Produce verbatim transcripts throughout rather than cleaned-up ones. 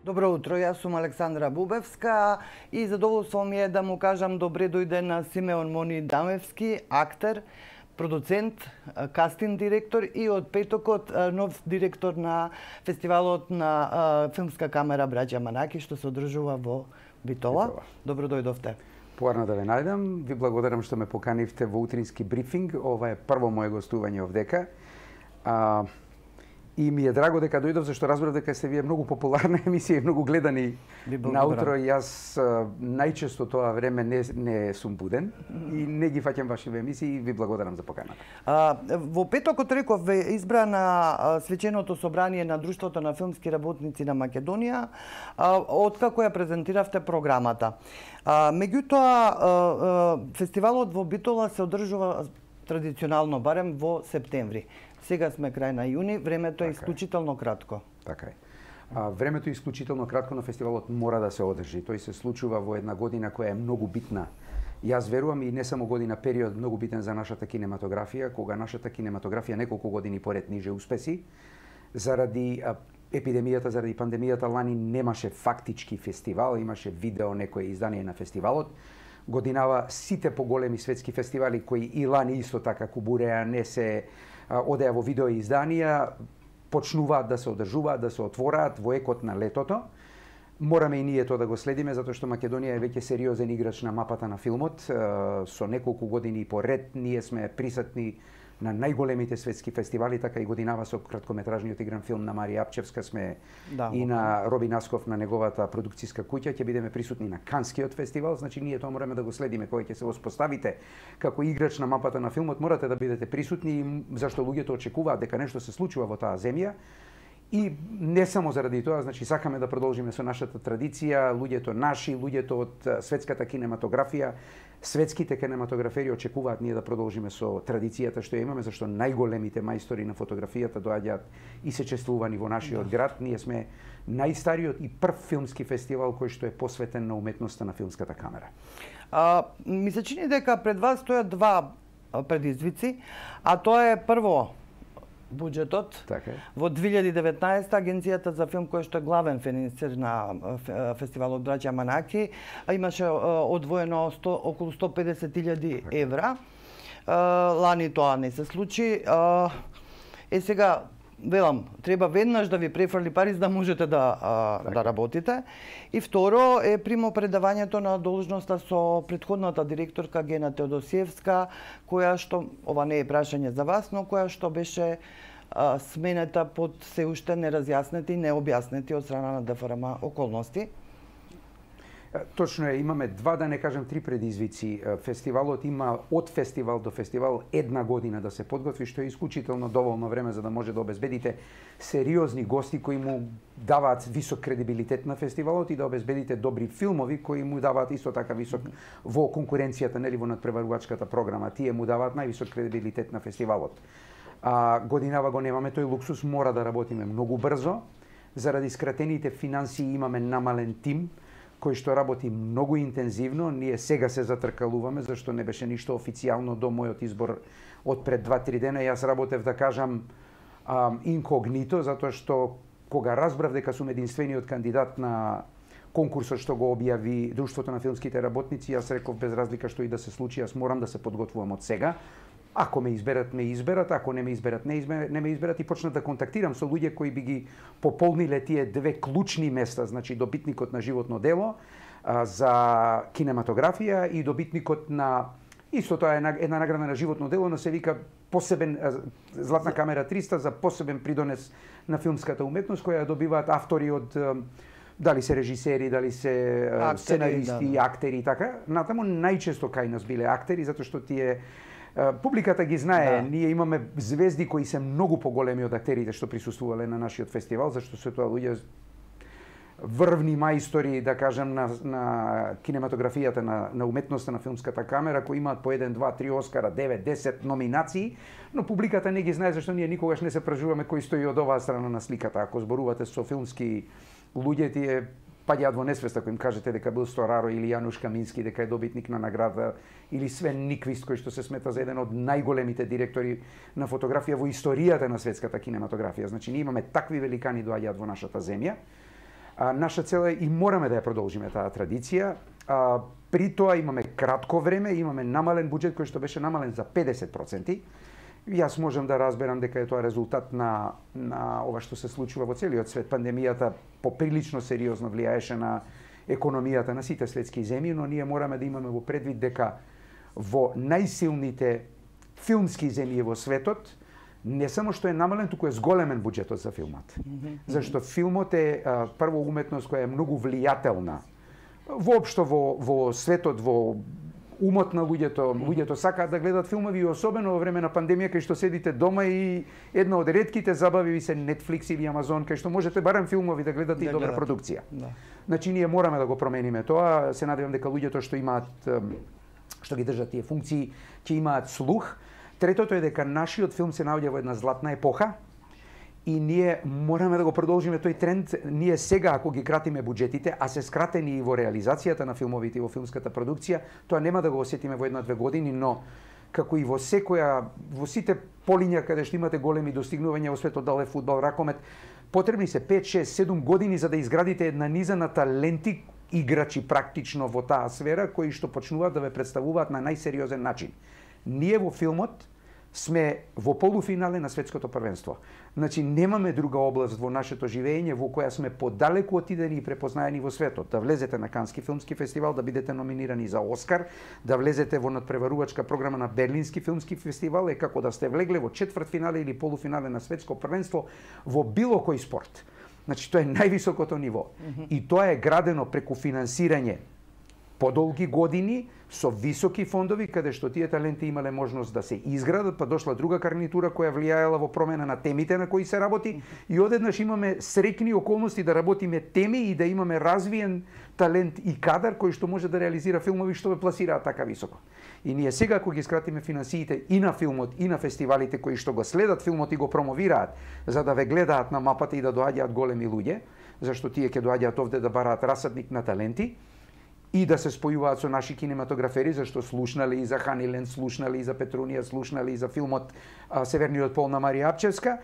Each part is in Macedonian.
Добро утро, јас сум Александра Бубевска и задоволство ми е да му кажам добре дојде на Симеон Мони Дамевски, актер, продуцент, кастинг директор и од петокот нов директор на фестивалот на филмска камера Браќа Манаки што се одржува во Битола. Битола. Добро дојдовте. Поарно да ве најдам, ви благодарам што ме поканивте во утрински брифинг. Ова е прво моје гостување овдека. А, и ми е драго дека дојдов, зашто разбрав дека сте вие многу популарна емисија и многу гледани наутро. Јас најчесто тоа време не, не сум буден и не ги фаќам вашите емисии и ви благодарам за поканата. А, во петокот реков ве избра на свеченото собрание на Друштвото на филмски работници на Македонија, а, откако ја презентиравте програмата. А, меѓутоа, фестивалот во Битола се одржува традиционално, барем во септември. Сега сме крај на јуни, времето е исклучително кратко. Така е. А, времето е исклучително кратко, но фестивалот мора да се одржи. Тој се случува во една година која е многу битна. Јас верувам и не само година, период многу битен за нашата кинематографија, кога нашата кинематографија неколку години поред ниже успеси. Заради а, епидемијата, заради пандемијата, лани немаше фактички фестивал, имаше видео некое издание на фестивалот. Годинава сите поголеми светски фестивали кои и лани исто така кубуреа, не се одеа во видео изданија, почнуваат да се одржуваат, да се отвораат во екот на летото. Мораме и ние тоа да го следиме, затоа што Македонија е веќе сериозен играч на мапата на филмот. Со неколку години поред ние сме присутни на најголемите светски фестивали, така и годинава со краткометражниот игран филм на Марија Апчевска сме да, и на Роби Насков на неговата продукцијска куќа, ќе бидеме присутни на Канскиот фестивал, значи ние тоа мораме да го следиме кога ќе се воспоставите како играч на мапата на филмот, морате да бидете присутни, зашто луѓето очекуваат дека нешто се случува во таа земја. И не само заради тоа, значи сакаме да продолжиме со нашата традиција, луѓето наши, луѓето од светската кинематографија, светските кинематографери очекуваат ние да продолжиме со традицијата што ја имаме, зашто најголемите мајстори на фотографијата доаѓаат и се чествувани во нашиот да. град. Ние сме најстариот и прв филмски фестивал кој што е посветен на уметноста на филмската камера. А, ми се чини дека пред вас стојат два предизвици, а тоа е прво буџетот. Така. Во две илјади и деветнаесета Агенцијата за филм, која што е главен финансер на фестивалот Браќа Манаки, имаше одвоено сто, околу сто педесет илјади евра. Лани тоа не се случи. Е сега, велам, треба веднаш да ви префрли пари за да можете да, а, да работите. И второ е примопредавањето на должноста со претходната директорка Гена Теодосиевска, која што, ова не е прашање за вас, но која што беше а, сменета под се уште неразјаснети и необјаснети од страна на ДФРМ околности. Точно е, имаме два, да не кажам три предизвици. Фестивалот има од фестивал до фестивал една година да се подготви, што е исклучително доволно време за да може да обезбедите сериозни гости кои му даваат висок кредибилитет на фестивалот и да обезбедите добри филмови кои му даваат исто така висок во конкуренцијата, нели, во надпреварувачката програма. Тие му даваат највисок кредибилитет на фестивалот. А годинава го немаме тој луксус, мора да работиме многу брзо. Заради скратените финансии имаме намален тим кој што работи многу интензивно. Ние сега се затркалуваме, зашто не беше ништо официјално до мојот избор од пред два-три дена. Јас работев, да кажам, инкогнито, затоа што кога разбрав дека сум единствениот кандидат на конкурсот што го објави Друштвото на филмските работници, јас реков без разлика што и да се случи, јас морам да се подготвувам од сега. Ако ме изберат, ме изберат, ако не ме изберат, не, изберат, не ме изберат и почнат да контактирам со луѓе кои би ги пополниле тие две клучни места, значи добитникот на животно дело а, за кинематографија и добитникот на исто тоа е една награда на животно дело, но се вика посебен Златна камера триста за посебен придонес на филмската уметност која добиваат автори од дали се режисери, дали се актери, сценаристи, да. актери и така. Натаму најчесто кај нас биле актери затоа што тие публиката ги знае, да. Ние имаме звезди кои се многу поголеми од актерите што присуствувале на нашиот фестивал, зашто се тоа луѓе врвни мајстори, да кажам, на, на кинематографијата, на, на уметноста на филмската камера, кои имаат по еден, два, три Оскара, девет, десет номинации, но публиката не ги знае, зашто ние никогаш не се пражуваме кој стои од оваа страна на сликата. Ако зборувате со филмски луѓе, тие паѓаат во несвеста кога им кажете дека бил Стораро или Јануш Камински, дека е добитник на награда, или Свен Никвист, кој што се смета за еден од најголемите директори на фотографија во историјата на светската кинематографија. Значи, ние имаме такви великани доаѓаат во нашата земја. А, наша цел е и мораме да ја продолжиме таа традиција. А, при тоа имаме кратко време, имаме намален буџет кој што беше намален за педесет проценти. Јас можам да разберам дека е тоа резултат на, на ова што се случува во целиот свет. Пандемијата поприлично сериозно влијаеше на економијата на сите светски земји, но ние мораме да имаме во предвид дека во најсилните филмски земји во светот не само што е намален, туку е зголемен буџетот за филмот. Mm-hmm. Зашто филмот е а, прво уметност која е многу влијателна. Воопшто во, во светот, во умот на луѓето, луѓето сакаат да гледат филмови, и особено во време на пандемија, кај што седите дома и една од ретките забави ви се Netflix или Amazon, кај што можете барем филмови да гледате да и добра продукција. Да. Значи ние мораме да го промениме тоа. Се надевам дека луѓето што имаат, што ги држат тие функции, ќе имаат слух. Третото е дека нашиот филм се наоѓа во една златна епоха и ние мораме да го продолжиме тој тренд. Ние сега, ако ги кратиме буџетите, а се скратени и во реализацијата на филмовите и во филмската продукција, тоа нема да го осетиме во една-две години, но како и во секоја, во сите полиња каде што имате големи достигнувања во светот, дали фудбал, ракомет, потребни се пет, шест, седум години за да изградите една низа на таленти, играчи практично во таа сфера, кои што почнуваат да ве представуваат на најсериозен начин. Ние во филмот сме во полуфинале на светското првенство. Значи немаме друга област во нашето живење во која сме подалеку отидени и препознаени во светот. Да влезете на Кански филмски фестивал, да бидете номинирани за Оскар, да влезете во надпреварувачка програма на Берлински филмски фестивал е како да сте влегле во четвртфинале или полуфинале на светско првенство во било кој спорт. Значи тоа е највисокото ниво. Mm-hmm. И тоа е градено преку финансирање подолги години со високи фондови, каде што тие таленти имале можност да се изградат, па дошла друга гарнитура која влијаела во промена на темите на кои се работи, и одеднаш имаме среќни околности да работиме теми и да имаме развиен талент и кадар кој што може да реализира филмови што ве пласираат така високо. И ние сега, ако ги скратиме финансиите и на филмот, и на фестивалите кои што го следат филмот и го промовираат, за да ве гледаат на мапата и да доаѓаат големи луѓе, зашто тие ќе доаѓаат овде да бараат расадник на таленти, и да се спојуваат со наши кинематографери, зашто слушнале и за Ханилен, слушнале и за Петрунија, слушнале и за филмот а, Северниот пол на Марија Апчевска.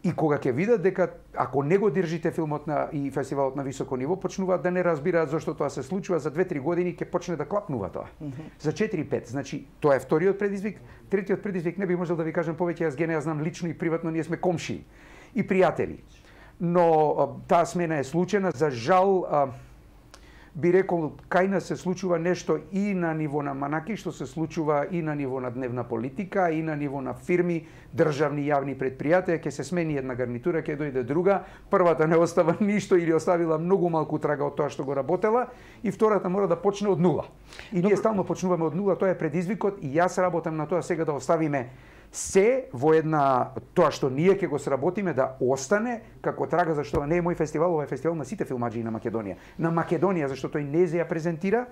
И кога ќе видат дека ако не го држите филмот на и фестивалот на високо ниво, почнуваат да не разбираат зашто тоа се случува, за две-три години ќе почне да клапнува тоа. Mm-hmm. За четири-пет, значи тоа е вториот предизвик. Третиот предизвик не би можел да ви кажам повеќе, јас Гене ја знам лично и приватно, ние сме комшии и пријатели. Но а, таа смена е случена, за жал. А, би рекол, кај нас се случува нешто и на ниво на Манаки, што се случува и на ниво на дневна политика, и на ниво на фирми, државни јавни предпријатија, ќе се смени една гарнитура, ќе дојде друга, првата не остава ништо или оставила многу малку трага од тоа што го работела, и втората мора да почне од нула. И ние стално почнуваме од нула, тоа е предизвикот, и јас работам на тоа сега да оставиме се во една, тоа што ние ќе го сработиме да остане како трага, зашто не е мој фестивал, ова е фестивал на сите филмаџии на Македонија. На Македонија, зашто тој не се ја презентира,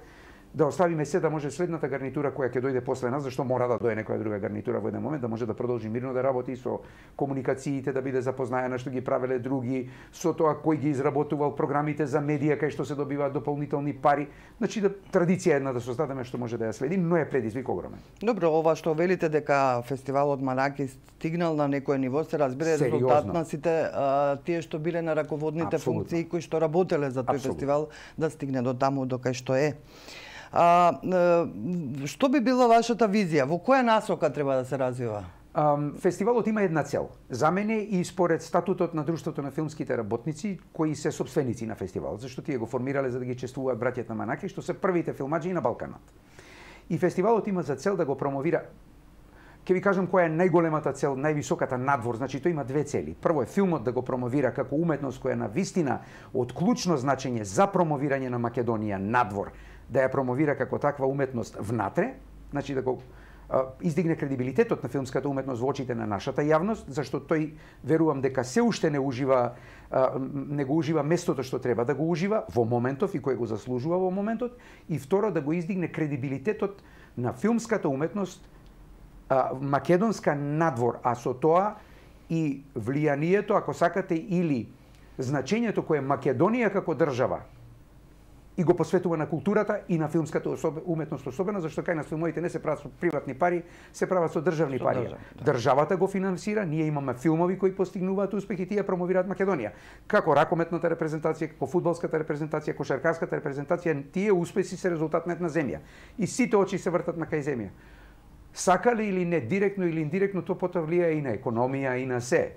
да оставиме се да може следната гарнитура која ќе дојде после нас, зашто мора да дојде некоја друга гарнитура во еден момент, да може да продолжи мирно да работи со комуникациите, да биде запознаена што ги правеле други, со тоа кој ги изработувал програмите за медија кај што се добиваат дополнителни пари. Значи да традиција една да создадеме што може да ја следи, но е предизвик огромен. Добро, ова што велите дека фестивалот Манаки стигнал на некој ниво, се разбира резултат на сите а, тие што биле на раководните Абсолютно. Функции кои што работеле за тој Абсолютно. Фестивал да стигне до таму до кај што е. А, што би била вашата визија? Во која насока треба да се развива? Um, фестивалот има една цел. За мене и според статутот на Друштвото на филмските работници, кои се собственици на фестивалот, зашто тие го формирале за да ги чествуваат браќата Манаки, што се првите филмаџии на Балканот. И фестивалот има за цел да го промовира. Ќе ви кажам која е најголемата цел, највисоката надвор, значи тој има две цели. Прво е филмот да го промовира како уметност која на вистина од клучно значење за промовирање на Македонија надвор, да ја промовира како таква уметност внатре, значи да го а, издигне кредибилитетот на филмската уметност во очите на нашата јавност, зашто тој верувам дека се уште не ужива а, не го ужива местото што треба да го ужива во моментов и кој го заслужува во моментот, и второ да го издигне кредибилитетот на филмската уметност а, македонска надвор, а со тоа и влијанието, ако сакате, или значењето кое Македонија како држава и го посветува на културата и на филмската особ... уметност особено, зашто кај нас филмовите не се прават со приватни пари, се прават со државни со пари. Држав, да. Државата го финансира, ние имаме филмови кои постигнуваат успех и тие промовираат Македонија. Како ракометната репрезентација, како фудбалската репрезентација, кошаркарската репрезентација, тие успеси се резултат на една земја. И сите очи се вртат на кај земја. Сакали или не, директно или индиректно, тоа потоа влијае и на економија и на се.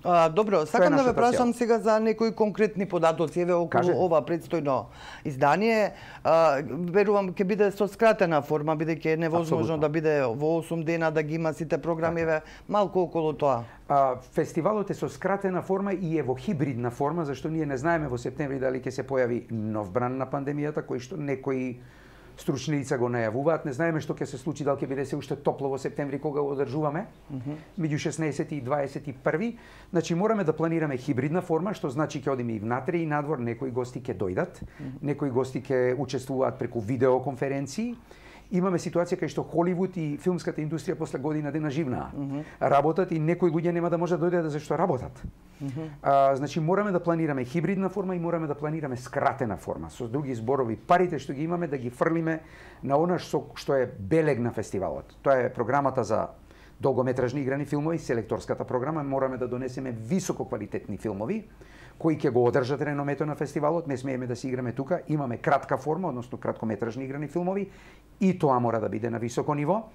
А, добро, сакам да ве прашам сега за некои конкретни податоци еве околу Каже. ова предстојно издание. А, верувам ќе биде со скратена форма, бидејќи е невозможно Абсолютно. да биде во осум дена да ги има сите програми, еве малку околу тоа. А, фестивалот е со скратена форма и е во хибридна форма, зашто ние не знаеме во септември дали ќе се појави нов бран на пандемијата, кој што некои стручни лица го најавуваат. Не знаеме што ќе се случи, дали ќе биде се уште топло во септември кога го одржуваме, меѓу шеснаесети и дваесет и први. Значи мораме да планираме хибридна форма, што значи ќе одиме и внатре и надвор, некои гости ќе дојдат, некои гости ќе учествуваат преку видеоконференции. Имаме ситуација кај што Холивуд и филмската индустрија после година дена живнаа. Mm -hmm. Работат и некои луѓе нема да може да дојдат зашто работат. Mm -hmm. а, значи мораме да планираме хибридна форма и мораме да планираме скратена форма. Со други зборови, парите што ги имаме да ги фрлиме на она што, што е белег на фестивалот. Тоа е програмата за долгометражни играни филмови, селекторската програма. Мораме да донесеме високо квалитетни филмови кои ќе го одржат реномето на фестивалот. Не смееме да си играме тука. Имаме кратка форма, односно краткометражни играни филмови, и тоа мора да биде на високо ниво.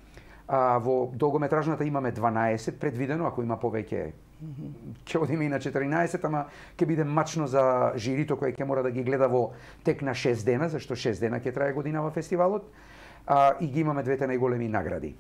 А, во долгометражната имаме дванаесет предвидено, ако има повеќе ќе одиме и на четиринаесет, ама ќе биде мачно за жирито кој ќе мора да ги гледа во тек на шест дена, зашто шест дена ќе трае годинава фестивалот, а, и ги имаме двете најголеми награди.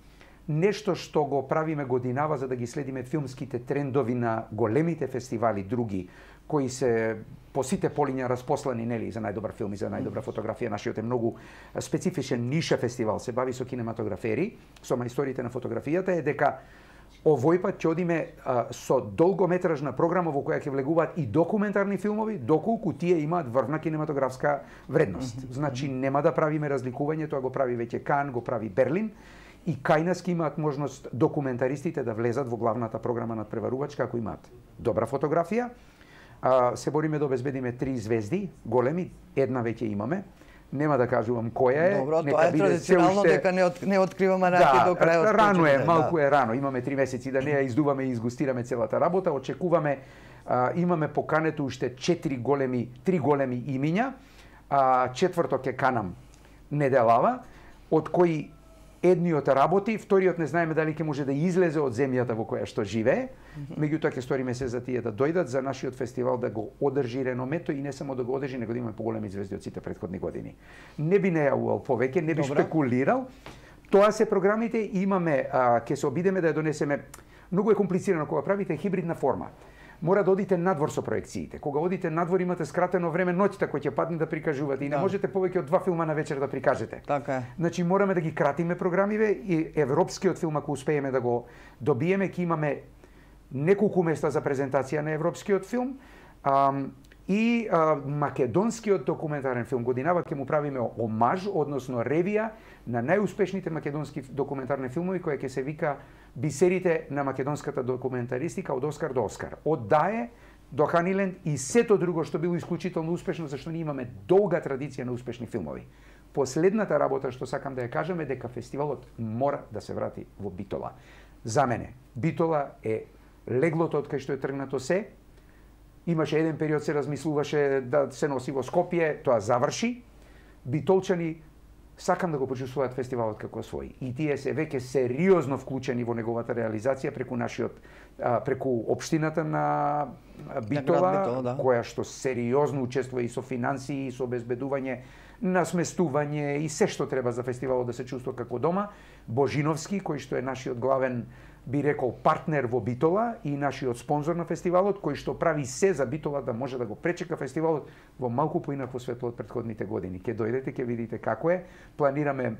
Нешто што го правиме годинава за да ги следиме филмските трендови на големите фестивали други, кои се по сите полиња распослани, нели, за најдобар филм и за најдобра фотографија. Нашиот е многу специфичен ниша фестивал, се бави со кинематографери, со мајсториите на фотографијата, е дека овој пат ќе одиме а, со долгометражна програма во која ќе влегуваат и документарни филмови, доколку тие имаат врвна кинематографска вредност. Mm -hmm. Значи нема да правиме разликување, тоа го прави веќе Кан, го прави Берлин, и кај нас ќе имаат можност документаристите да влезат во главната програма надпреварувачка ако имаат добра фотографија. А, се бориме да обезбедиме три звезди, големи, една веќе имаме. Нема да кажувам која е. Добро, тоа е традиционално уште... дека не, от, не откриваме раки да, до крајот. Рано е, малку да. е рано. Имаме три месеци да не ја издуваме и изгустираме целата работа. Очекуваме, а, имаме покането уште четири големи, три големи имиња. А, четврто ќе канам неделава, од кои едниот работи, вториот не знаеме дали ќе може да излезе од земјата во која што живее. Меѓутоа ќе сториме се за тие да дојдат за нашиот фестивал да го одржи реномето и не само да го одржи, него да имаме поголеми звезди од сите претходни години. Не би најавувал повеќе, не би Добра. спекулирал. Тоа се програмите, имаме, а, ќе се обидеме да ја донесеме. Многу е комплицирано кога правите хибридна форма. Мора да одите надвор со проекциите. Кога одите надвор имате скратено време ноќта кој ќе падне да прикажувате и не да. можете повеќе од два филма на вечер да прикажете. Така е. Значи мораме да ги кратиме програмиве и европскиот филм ако успееме да го добиеме, ќе имаме неколку места за презентација на европскиот филм. А, и а, македонскиот документарен филм годинава ќе му правиме омаж, односно ревија на најуспешните македонски документарни филмови која ќе се вика Бисерите на македонската документаристика од Оскар до Оскар. Од Дае до Ханиленд и сето друго што било исклучително успешно, зашто ние имаме долга традиција на успешни филмови. Последната работа што сакам да ја кажам е дека фестивалот мора да се врати во Битола. За мене, Битола е леглото од кај што е тргнато се. Имаше еден период се размислуваше да се носи во Скопје, тоа заврши. Битолчани сакам да го почувствуваат фестивалот како свој. И тие се веќе сериозно вклучени во неговата реализација преку нашиот преку општината на Битола, Битола да. која што сериозно учествува и со финансии, и со обезбедување на сместување и се што треба за фестивалот да се чувствува како дома. Божиновски, кој што е нашиот главен, би рекол, партнер во Битола и нашиот спонзор на фестивалот, кој што прави се за Битола да може да го пречека фестивалот во малку поинакво светло од претходните години. Ќе дојдете, ќе видите како е. Планираме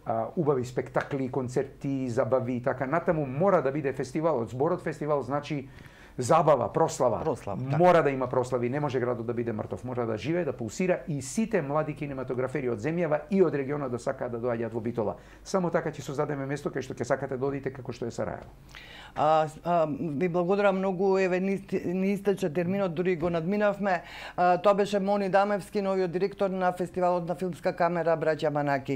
а, убави спектакли, концерти, забави и така натаму. Мора да биде фестивалот. Зборот фестивал значи забава, прослава. Прослава, така. Мора да има прослави, не може градот да биде мртов, мора да живее, да пулсира и сите млади кинематографери од земјава и од регионот да сакаат да доаѓаат во Битола. Само така ќе создадеме место кај што ќе сакате да одите како што е Сараево. А, а, ви благодарам многу, еве ни, ни истече терминот, дури го надминавме. А, тоа беше Мони Дамевски, новиот директор на фестивалот на филмска камера Браќа Манаки.